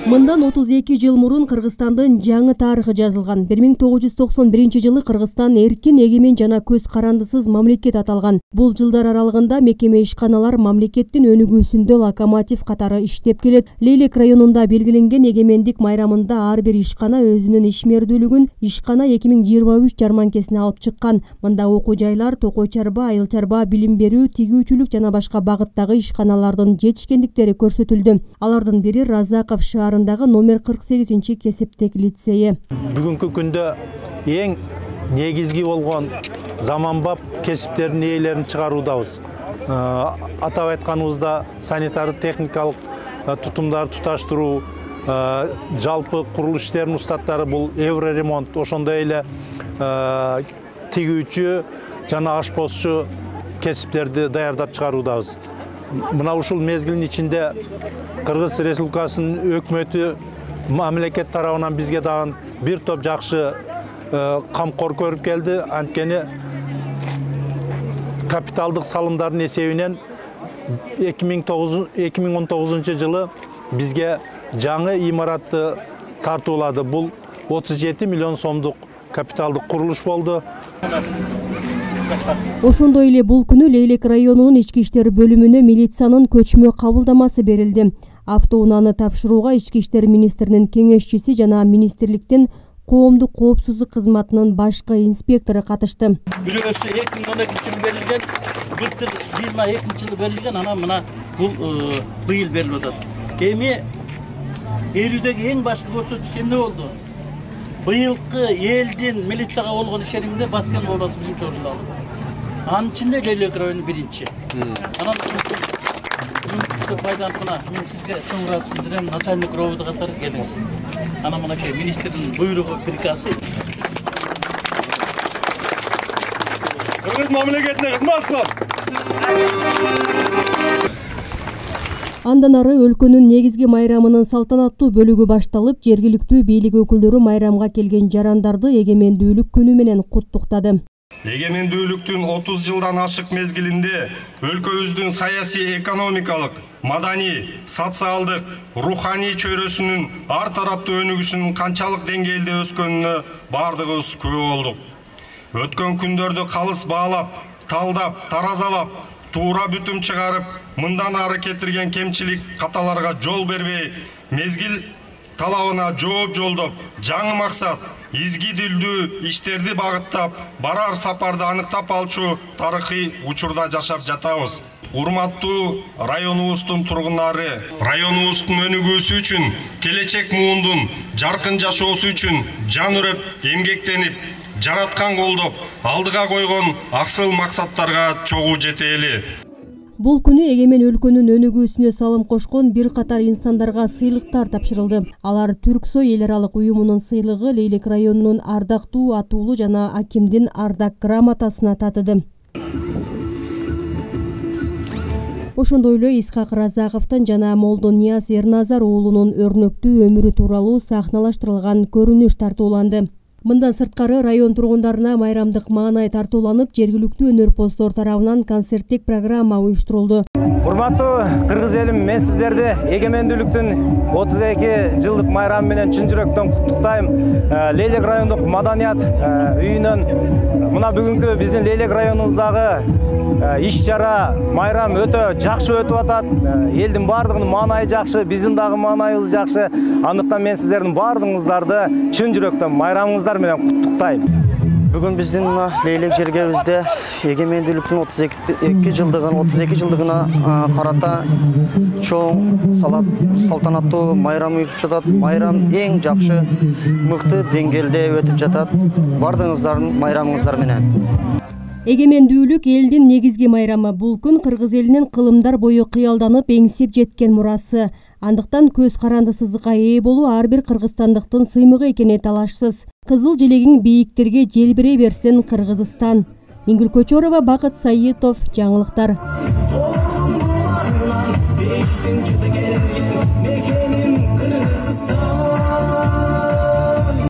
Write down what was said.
Мындан 32 жыл мурун Кыргызстандын жаңы тарыхы жазылган. 1991 жылы Кыргызстан эркин, эгемен жана көз карандысыз мамлекет аталган. Бул жылдар аралыгында мекеме ишканалар мамлекеттин өнүгүүсүндө локомотив катары иштеп келет. Лейлек районунда белгиленген эгемендик майрамында ар бир ишкана өзүнүн ишмердүүлүгүн ишкана 2023 жарманкесине алып чыккан. Мында окуу жайлар, токой чарба, айыл чарба, билим берүү, тигүүчүлүк жана башка багыттагы ишканалардын жетишкендиктери көрсөтүлдү. Алардын бири Разаков шаарындагы номер 48 кесиптик лицейи. Бүгүнкү күндө эң негизги болгон заманбап кесиптердин ээлерин чыгаруудабыз. Атап айтканыбызда санитар техникалык тутумдарды туташтыруу, жалпы курулуш иштеринин устаттары бул евроремонт, ошондой эле тигүүчү жана ашпозчу кесиптерди даярдап чыгаруудабыз. Мына ушул мезгилдин ичинде Кыргыз Республикасынын өкмөтү мамлекет тарабынан бизге дагы бир топ жакшы камкор көрүп келди. Анткени капиталдык салымдардын эсебинен 2019 жылы бизге жаңы имаратты тартуулады. Бул 37 миллион сомдук капиталдык курулуш болду. Ошондой эле бул күнү Лейлек районунун ички иштер бөлүмүнө милициянын көчмө кабылдамасы берилди. Автоунааны тапшырууга ички иштер министринин кеңешчиси жана министрликтин коомдук коопсуздук кызматынын башкы инспектору катышты. Бирөөсү 2012 жылы берилген, былтыр 22 жылы берилген, анан мына бул быйыл берилип атат. Эми берүүдөгү эң башкы көрсөткүч эмне болду? Быйылкы элдин милицияга болгон ишенимде Баткен областы биринчи орунду алды. Анын ичинде Лейлек району биринчи. Анан пайдаланып мен сизге чоң билдирем, начальник ровд катары келиңиз. Анан мынакей министрдин буйругу, приказы. Кыргыз мамлекетине кызмат кылам. Андан ары өлкөнүн негизги майрамынын салтанаттуу бөлүгү башталып, жергиликтүү бийлик өкүлдөрү майрамга келген жарандарды эгемендүүлүк күнү менен куттуктады. Эгемендүүлүктүн 30 жылдан ашык мезгилинде өлкөбүздүн саясий, экономикалык, маданий, социалдык, руханий чөйрөсүнүн ар тараптуу өнүгүшүнүн канчалык деңгээлде өскөнүнө бардыгыбыз күбө болдук. Өткөн күндөрдө калыс баалап, талдап, таразалап, туура бүтүм чыгарып, мындан ары кетирген кемчилик каталарга жол бербей, мезгил талабына жооп жолдоп, жаңы максат, изги дилдүү иштерди багыттап, барар сапарды аныктап алчу тарыхый учурда жашап жатабыз. Урматтуу районубуздун тургундары, районубуздун өнүгүүсү үчүн, келечек муундун жаркын жашоосу үчүн жан үрөп, эмгектенип, жараткан колдоп, алдыга койгон аксыл максаттарга чогуу жетели. Бул күнү эгемен өлкөнүн өнүгүүсүнө салым кошкон бир катар инсандарга сыйлыктар тапшырылды. Алар Түрксой эл аралык уюмунун сыйлыгы, Лейлек районунун ардактуу атуулу жана акимдин ардак грамотасына татыды. Ошондой эле Исхак Разаковдон жана Молдонияз Эрназар уулунун өрнөктүү өмүрү тууралуу сахналаштырылган көрүнүш тартууланды. Мындан сырткары район тургундарына майрамдык маанай тартууланып, жергиликтүү өнөрпоздор тарабынан концерттик программа уюштурулду. Урматтуу кыргыз элим, мен сиздерди эгемендүүлүктүн 32 жылдык майрамы менен чын жүрөктөн куттуктайм. Лейлек райондук маданият үйүнөн мына бүгүнкү биздин Лейлек районубуздагы иш чара, майрам өтө жакшы өтүп атат. Элдин бардыгынын маанайы жакшы, биздин дагы маанайыбыз жакшы. Андыктан мен сиздердин бардыгыңыздарды чын жүрөктөн майрамыңыздар менен куттуктайм. Бүгүн биздин Лейлек жергебизде эгемендүүлүктүн 32 жылдыгына карата чоң салтанаттуу майрам уюштуруп жатат. Майрам эң жакшы, мыкты деңгээлде өтүп жатат. Бардыгыңыздардын майрамыңыздар менен. Эгемендүүлүк элдин негизги майрамы. Бул күн кыргыз элинин кылымдар бою кыялданып, эңсеп жеткен мурасы. Андыктан көз карандысыздыкка ээ болуу ар бир кыргызстандыктын сыймыгы экени талашсыз. Кызыл желегиң бийиктерге желбирей берсин Кыргызстан. Мингүл Көчөрова, Бакыт Саитов, жаңылыктар.